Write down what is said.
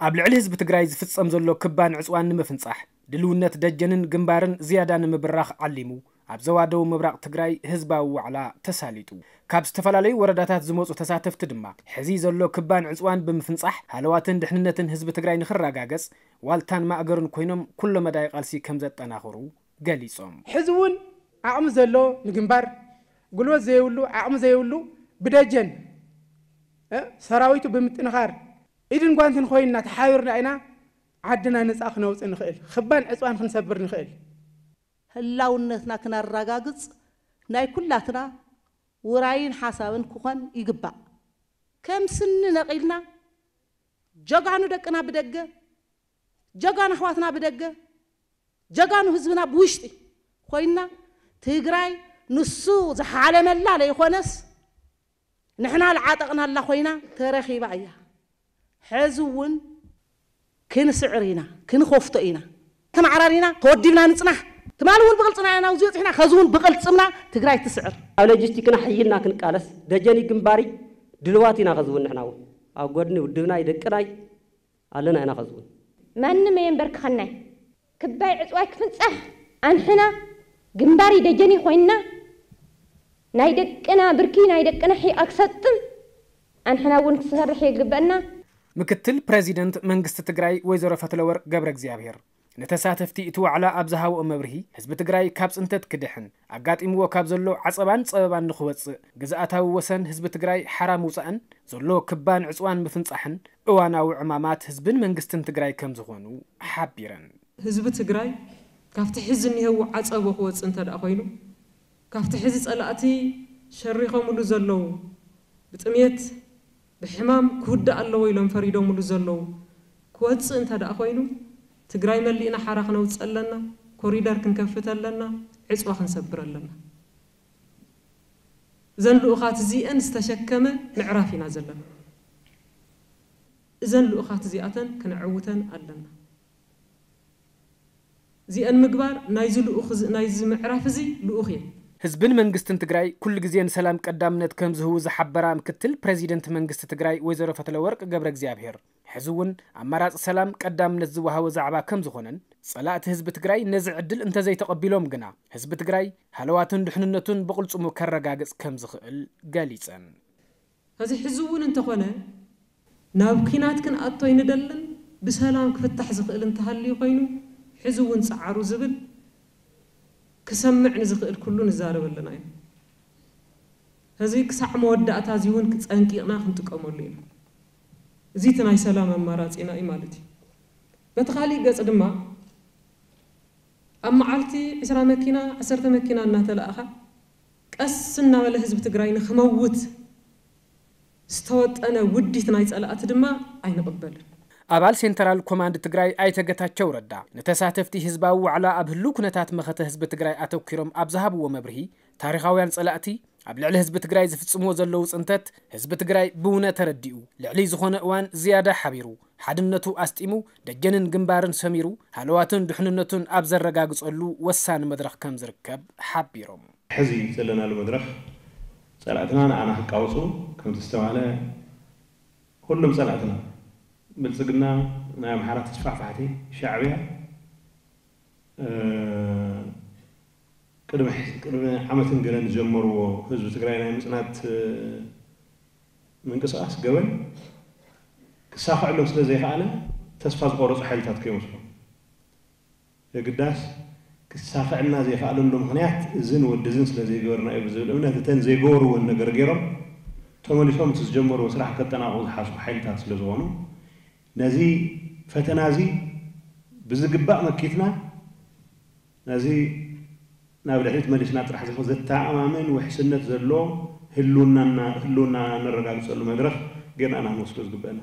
ኣብ ልዕሊ ህዝቢ ትግራይ ዝፍጸም ዘሎ ክባን ዕጽዋን ንምፍንጻሕ ድልውነት ደጀንን ግንባርን ዝያዳ ንምብራኽ ዓሊሙ ኣብ ዘዋደው ምብራቕ ትግራይ ህዝባዊ ዋዕላ ተሳሊጡ። ካብ ዝተፈላለዩ ወረዳታት ዝመፁ ተሳተፍቲ ድማ ሕዚ ዘሎ ክባን ዕፅዋን ብምፍንፃሕ ሃለዋትን ድሕንነትን ህዝቢ ትግራይ ንክረጋገፅ ዋልታን ማእገሩን ኮይኖም ኩሎ መዳይ ቃልሲ ከም ዘጠናኽሩ ገሊፆም። ሕዚ እውን ዓቕሚ ዘሎ ንግንባር፣ ጉልበት ዘይብሉ ዓቕሚ ዘይብሉ ብደጀን ሰራዊቱ ብምጥንኻር ኢድን ጓንትን ኮይንና ተሓቢርና ኢና ዓድና ነፃ ክነውፅእ ንኽእል፣ ክባን ዕፅዋን ክንሰብር ንኽእል። ህላውነትና ክነረጋግፅ ናይ ኩላትና ውራይን ሓሳብን ክኾን ይግባእ። ከም ስኒ ነቒልና ጀጋኑ ደቅና ብደገ፣ ጀጋኑ ኣሕዋትና ብደገ፣ ጀጋኑ ህዝብና ብውሽጢ ኮይንና ትግራይ ንሱ ዝሓለመላ ለይኾነስ ንሕና ልዓጠቕናላ ኮይና ተረኺባ እያ። ሕዚ እውን ክንስዕር ኢና፣ ክንኸፍቶ ኢና። ተመዓራሪና ተወዲብና ንፅናሕ። ትማሊ እውን ብቕልፅና ኢና ናብዚ በፂሕና፣ ኸዚ እውን ብቕልፅምና ትግራይ ትስዕር። ኣብ ሎጂስቲክና ሕይልና ክንቃለስ ደጀኒ ግንባሪ ድልዋት ኢና። ኸዚ እውን ንሕና እውን ኣብ ጎድኒ ውድብናይ ደቅናይ ኣለና ኢና። ኸዚ እውን ማንም ኣየንበርክኸናይ። ክባይ ዕፅዋይ ክፍንፃሕ ኣንሕና ግንባሪ ደጀኒ ኮይንና ናይ ደቅና ብርኪ ናይ ደቅና ሒቓ ክሰጥም ኣንሕና እውን ክሰርሕ የግበእና። ምክትል ፕረዚደንት መንግስቲ ትግራይ ወይዘሮ ፈትለወርቅ ገብረ እግዚኣብሔር ንተሳተፍቲ እቲ ዋዕላ ኣብ ዝሃብኦ መብርሂ ህዝቢ ትግራይ ካብ ፅንተት ክድሕን ኣጋጢምዎ ካብ ዘሎ ዓፀባን ፀበባን ንክወፅእ ግዝኣታዊ ወሰን ህዝቢ ትግራይ ሓራ ምውፃእን ዘሎ ክባን ዕፅዋን ምፍንፃሕን እዋናዊ ዕማማት ህዝብን መንግስትን ትግራይ ከም ዝኾኑ ሓቢረን። ህዝቢ ትግራይ ካብቲ ሕዚ እኒሀዎ ዓፀቦ ክወፅእ እንተ ደኣ ኮይኑ፣ ካብቲ ሕዚ ፀላእቲ ሸሪኾምሉ ዘለዉ፣ ብጥምየት ብሕማም ክውዳእ ኣለዎ ኢሎም ፈሪዶምሉ ዘለዉ ክወፅእ እንተ ደኣ ኮይኑ፣ ትግራይ መሊእና ሓራ ክነውፅእ ኣለና፣ ኮሪደር ክንከፍት ኣለና፣ ዕፅዋ ክንሰብር ኣለና። እዘን ልኡኻት እዚአን ዝተሸከመ ምዕራፍ ኢና ዘለና። እዘን ልኡኻት እዚኣተን ክነዕውተን ኣለና። እዚአን ምግባር ናይዚ ልኡኽ እዚ ናይዚ ምዕራፍ እዚ ልኡኽ እየን። ህዝብን መንግስትን ትግራይ ኩሉ ግዜ ንሰላም ቀዳምነት ከም ዝህቡ ዝሓበራ ምክትል ፕረዚደንት መንግስቲ ትግራይ ወይዘሮ ፈትለወርቅ ገብረ እግዚኣብሔር፣ ሕዚ እውን ኣማራፂ ሰላም ቀዳምነት ዝወሃቦ ዛዕባ ከም ዝኾነን ፀላእቲ ህዝቢ ትግራይ ነዚ ዕድል እንተዘይተቐቢሎም ግና ህዝቢ ትግራይ ሃለዋቱን ድሕንነቱን ብቕልፅሙ ከረጋግፅ ከም ዝኽእል ገሊፀን። ሕዚ ሕዚ እውን እንተኾነ ናብ ኲናት ክንኣቶ ኣይንደልን፣ ብሰላም ክፍታሕ ዝኽእል እንተሃልዩ ኮይኑ ሕዚ እውን ጸዓሩ ዝብል ክሰምዕ ንዝኽእል ኩሉ ንዛረብ ኣለና ኢና። ሕዚ ክሳዕ መወዳእታ እዚ እውን ጸንቂቕና ክንጥቀመሉ ኢና። እዚ እቲ ናይ ሰላም ኣማራጺና እዩ ማለት እዩ። በቲ ካሊእ ገጽ ድማ ኣብ መዓልቲ ዕስራ መኪና፣ ዓሰርተ መኪና እናተላእኻ ቀስ እናበለ ህዝቢ ትግራይ ንኽመውት ዝተወጠነ ውዲት ናይ ጸላእቲ ድማ ኣይንቕበልን። ኣባል ሴንተራል ኮማንድ ትግራይ ኣይተ ገታቸው ረዳ ንተሳተፍቲ ህዝባዊ ዋዕላ ኣብ ህልው ኩነታት መኸተ ህዝቢ ትግራይ ኣተኲሮም ኣብ ዝሃብዎ መብርሂ፣ ታሪኻውያን ጸላእቲ ኣብ ልዕሊ ህዝቢ ትግራይ ዝፍጽምዎ ዘለዉ ጽንተት ህዝቢ ትግራይ ብውነ ተረዲኡ ልዕሊ ዝኾነ እዋን ዝያዳ ሓቢሩ ሓድነቱ ኣስጢሙ ደጀንን ግንባርን ሰሚሩ ሃለዋቱን ድሕንነቱን ኣብ ዘረጋግጸሉ ወሳኒ መድረኽ ከም ዝርከብ ሓቢሮም። ሕዚ ዘለናሉ መድረኽ ጸላእትና ንዓና ክቃወጹ ከም ዝተባህለ ኩሎም ጸላእትና ብልጽግና ናይ ኣምሓራ ተስፋሕፋሕቲ ሻዕብያ ቅድሚ ዓመትን ገለን ዝጀመርዎ ህዝቢ ትግራይ ናይ ምፅናት ምንቅስቃስ ገበን ክሳኽዐሎም ስለ ዘይከኣለ ተስፋ ዝቆረፁ ሓይልታት ከይመስሎም የግዳስ ክሳኽዐልና ዘይከኣለሉ ምኽንያት እዝን ወዲ እዝን ስለ ዘይገበርና እዩ ብዝብል እምነት እተን ዘይገበርወን ነገር ገይሮም ተመሊሶም እቲ ዝጀመርዎ ስራሕ ከጠናቕቑ ዝሓስቡ ሓይልታት ስለ ዝኾኑ ነዚ ፈተና እዚ ብዝግባእ መኪትና ነዚ ናብ ድሕሪት መሊስና ጥራሕ ዘይኮነ ዘተኣማምን ውሕስነት ዘለዎ ህልውና ነረጋግፀሉ መድረኽ ጌርና ኢና ክንወስዶ ዝግበአና።